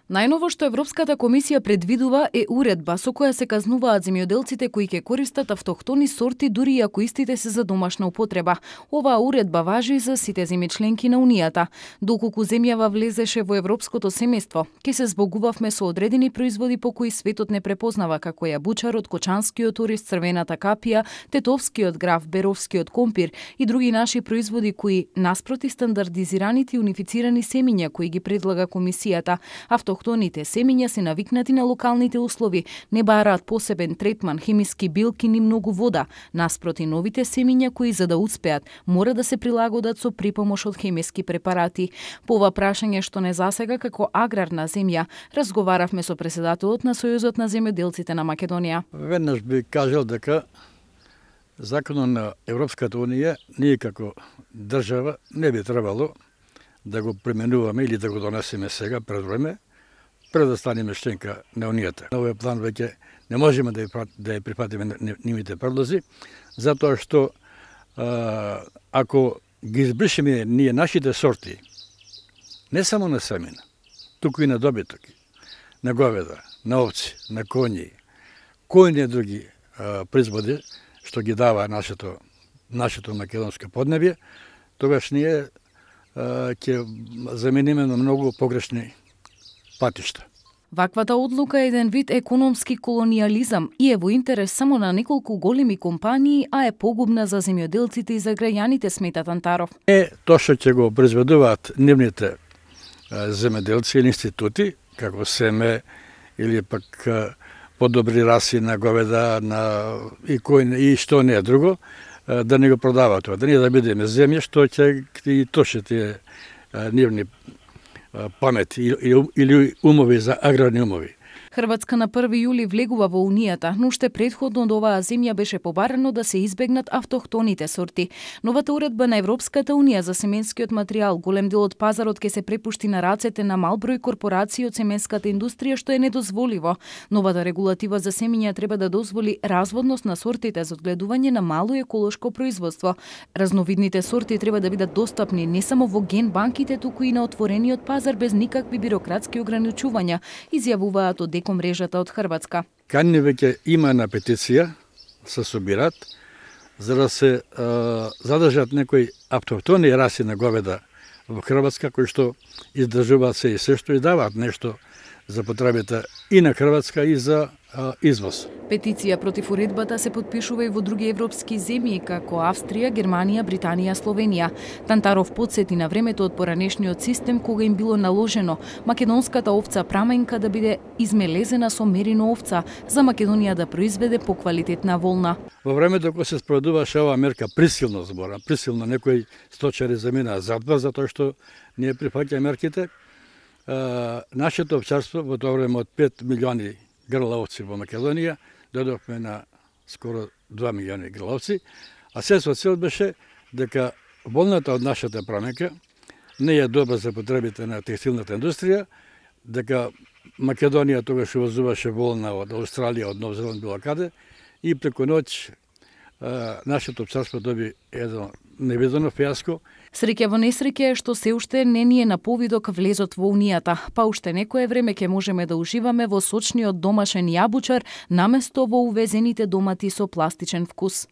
Најново што Европската комисија предвидува е уредба со која се казнуваат земјоделците кои ќе користат автохтони сорти дури и ако истите се за домашна употреба. Оваа уредба важи за сите земји членки на Унијата. Доколку земјава влезеше во европското семејство, ќе се збогувавме со одредени производи по кои светот не препознава, како јабучарот, кочанскиот ориз, црвената капија, тетовскиот граф, беровскиот компир и други наши производи кои наспроти стандардизираните и унифицирани семиња кои ги предлага комисијата. Автохтоните семиња се навикнати на локалните услови, не бараат посебен третман, хемиски билки ни многу вода. Наспроти новите семиња кои за да успеат мора да се прилагодат со припомош од хемиски препарати. По ова прашање што не засега како аграрна земја, разговаравме со председателот на Сојузот на земјоделците на Македонија. Веднаш би кажал дека законот на Европската Унија ние како држава не би требало да го применуваме или да го донесеме сега пред време, пред да станеме членка на Унијата. На овој план веќе не можеме да ја прифатиме нивните предлози, затоа што ако ги избришеме ние нашите сорти, не само на семена, туку и на добиток, на говеда, на овци, на коњи, кои не други производи што ги дава нашето македонско поднебје, тогаш ние ќе замениме на многу погрешни патишта. Ваквата одлука е еден вид економски колониализам и е во интерес само на неколку големи компании, а е погубна за земјоделците и за граѓаните, смета Тантаров. Тоа што ќе го произведуваат нивните земјоделци или институти, како семе или пак подобри раси на говеда, и што не е друго, да не го продаваат тоа, да ние да бидеме земја што ќе и тоше тие нивни памет или умови за аграрни умови. Хрватска на 1 јули влегува во Унијата, но уште претходно од оваа земја беше побарано да се избегнат автохтоните сорти. Новата уредба на Европската Унија за семенскиот материјал, голем дел од пазарот ќе се препушти на рацете на мал број корпорации од семенската индустрија, што е недозволиво. Новата регулатива за семиња треба да дозволи разводност на сортите за одгледување на мало еколошко производство. Разновидните сорти треба да бидат достапни не само во ген банките, туку и на отворениот пазар без никакви бирократски ограничувања, изјавуваат од мрежата од Хрватска. Канни веќе има на петиција се собират за да се задржат некои автохтони раси на говеда во Хрватска кои што издржуваат се и се што и даваат нешто за потребите и на Хрватска и за извоз. Петиција против уредбата се потпишува и во други европски земји како Австрија, Германија, Британија, Словенија. Тантаров потсети на времето од поранешниот систем кога им било наложено македонската овца праменка да биде измелезена со мерино овца за Македонија да произведе поквалитетна волна. Во времето кога се спроведуваше оваа мерка присилно некои сточари заминаа затвор затоа што ние прифаќаме мерките. Нашето овчарство во тоа време од 5 милиони грлаовци во Македонија додовме на скоро 2 милиони грлаовци, а се со цел беше дека волната од нашата праменка не е добра за потребите на текстилната индустрија, дека Македонија тогаш увозуваше волна од Австралија, од Нов Зеланд, било каде, и преку ноќ нашето овчарство доби едно невидено фијаско. Среќа во несреќа е што се уште не ни е на повидок влезот во Унијата, па уште некое време ќе можеме да уживаме во сочниот домашен јабучар наместо во увезените домати со пластичен вкус.